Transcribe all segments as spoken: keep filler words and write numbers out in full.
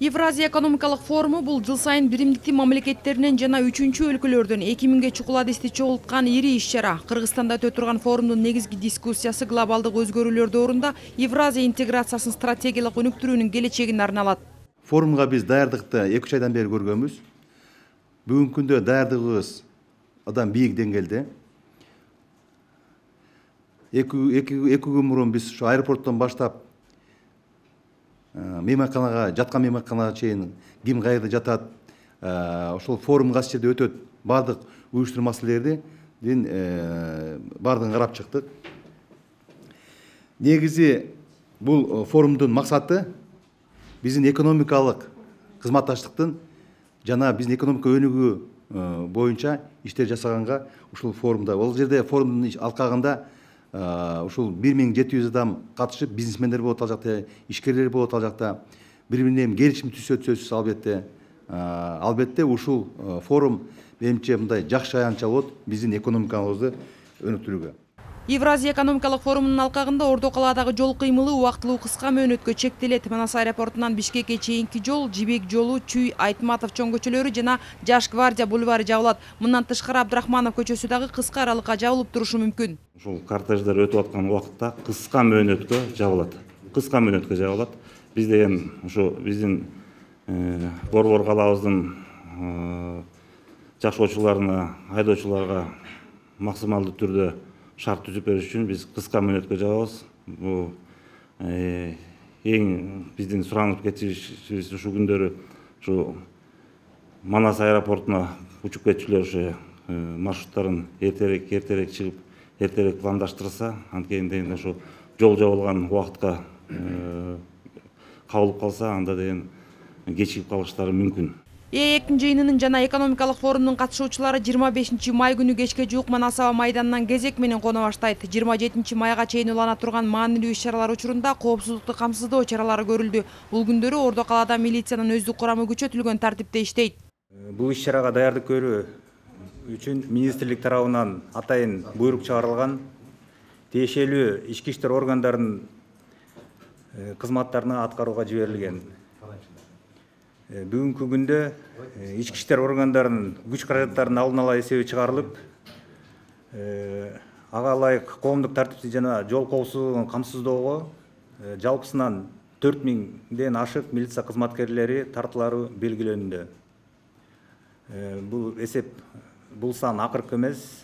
Евразия экономикалык форуму бул жыл сайын биримдиктүү мамлекеттеринен жана үчүнчү өлкөлөрдөн эки миңге чукул адисти чогулткан ири иш-чара. Кыргызстанда өтө турган форумдун негизги дискуссиясы глобалдык өзгөрүүлөр доорунда Евразия интеграциясын стратегиялык өнүктүрүүнүн келечегине арналат. Форумга биз даярдыкты эки үч айдан бери көргөнбүз. Бүгүнкү күндө даярдыгыбыз абдан бийик деңгээлде. Эки күн мурун биз ушу аэропорттон баштап мейманканага, жаткан мейманканага чейин ким каерде жатат, ошол форум кайсы жерде өтөт, баардык уюштуруу маселелерин баардыгын карап чыктык. Негизи бул форумдун максаты биздин экономикалык кызматташтыктын жана биздин экономика өнүгүү боюнча иштер жасаганга ушул форумда, ол жерде форумдун алкагында ушул бир миң жети жүз адам катышып, бизнесмендер болот ал жакта, ишкерлер болот ал жакта, бири бири менен келишим түзөт сөзсүз албетте. Албетте ушул форум менимче мындай жакшы аянтча болот биздин экономикабызды өнүктүрүүгө. Евразия экономикалык форумунун алкагында Ордо калаадагы жол кыймылы убактылуу кыска мөөнөткө чектелет. Манас аэропортунан Бишкекке чейинки жол, Жибек жолу, Чүй, Айтматов чоң көчөлөрү жана Жаш гвардия бульвары жабылат. Мындан тышкары Абдрахманов көчөсү дагы кыска аралыкка жабылып турушу мүмкүн. Ушул кортеждер өтүп аткан убакытта кыска мөөнөткө жабылат. Кыска мөөнөткө жабылат. Биз деген ушу биздин борбор калаабыздын жашоочуларына, айдоочуларга максималдуу түрдө шарт түзүп бериш үчүн биз кыска мөөнөткө жабабыз. Бул эң биздин суранып кетишибиз ушул күндөрү ушу Манас аэропортуна учуп кетчүлөр ушу маршруттарын эртерээк эртерээк чыгып, эртерээк пландаштырса, анткени деген ушу жол жабылган убакытка кабылып калса, анда деген кечигип калыштары мүмкүн. ЭЭКтин жыйынынын жана экономикалык форумдун катышуучулары жыйырма бешинчи май күнү кечке жуук Манас аба майданынан кезек менен коно баштайт. жыйырма жетинчи майга чейин улана турган маанилүү иш-чаралар учурунда коопсуздукту камсыздоо чаралары көрүлдү. Бул күндөрү Ордо калаада милициянын өздүк курамы күчөтүлгөн тартипте иштейт. Бул иш-чарага даярдык көрүү үчүн министрлик тарабынан атайын буйрук чыгарылган. Тиешелүү ички иштер органдарынын кызматтарына аткарууга жиберилген. Бүгүнкү күндө ички иштер органдарынын күч каражаттарынын алдын ала эсеби чыгарылып, ага ылайык коомдук тартипти жана жол коопсуздугун камсыздоого жалпысынан төрт миңден ашык милиция кызматкерлери тартылары белгиленүүдө. Бул эсеп, бул сан акыркы эмес,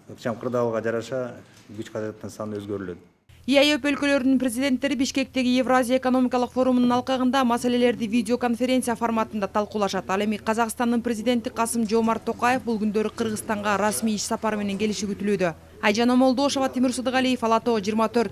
ыкчам кырдаалга жараша күч каражаттын саны өзгөрүлөт. ИАЭП өлкөлөрүнүн президенттери Бишкектеги Евразия экономикалык форумунун алкагында маселелерди видеоконференция форматында талкуулашат. Ал эми Казакстандын президенти Касым-Жомарт Токаев бул күндөрү Кыргызстанга расмий иш сапары менен келиши күтүлүүдө. Айжан Омолдошова, Тимур Сыдыгалиев, Ала Тоо жыйырма төрт.